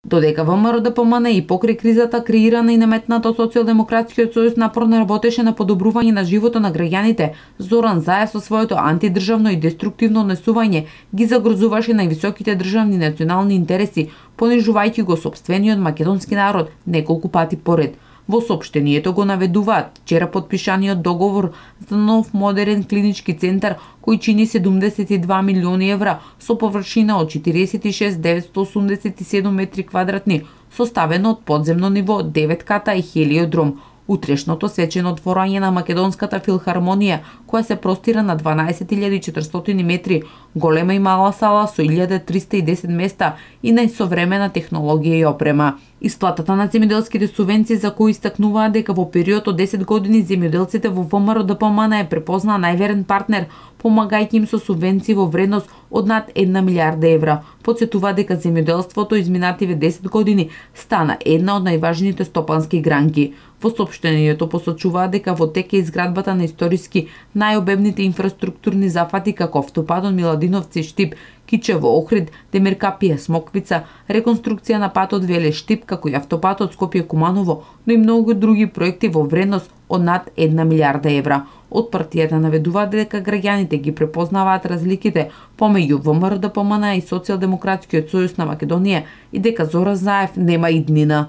Додека ВМРО-ДПМН и покрај кризата креирана и наметната од Социјалдемократскиот сојуз напорно работеше на подобрување на животот на граѓаните, Зоран Заев со своето антидржавно и деструктивно однесување ги загрозуваше највисоките државни и национални интереси, понижувајќи го сопствениот македонски народ неколку пати поред. Во соопштението го наведуваат вчера подпишаниот договор за нов модерен клинички центар кој чини 72 милиони евра со површина од 46.987 метри квадратни, составено од подземно ниво, 9 ката и хелиодром. Утрешното свечено отворање на Македонската филхармонија, која се простира на 12.400 метри, голема и мала сала со 1310 места и најсовремена технологија и опрема. Исплатата на земјоделските субвенции за кои истакнуваат дека во период од 10 години земјоделците во ВМРО-ДПМН е препознаа најверен партнер, помагајќи им со субвенции во вредност од над 1 милиарда евра. Потсетува дека земјоделството изминативе 10 години стана една од најважните стопански гранки. Во соопштението посочуваат дека во тек е изградбата на историски најобемните инфраструктурни зафати како автопатот Миладиновци-Штип, Кичево, Охрид, Демиркапија, Смоквица, реконструкција на патот Веле-Штип, како и автопатот Скопје-Куманово, но и многу други проекти во вредност од над 1 милиарда евра. Од партијата наведуваат дека граѓаните ги препознаваат разликите помеѓу ВМРО-ДПМН и Социјалдемократскиот сојуз на Македонија и дека Зоран Заев нема иднина.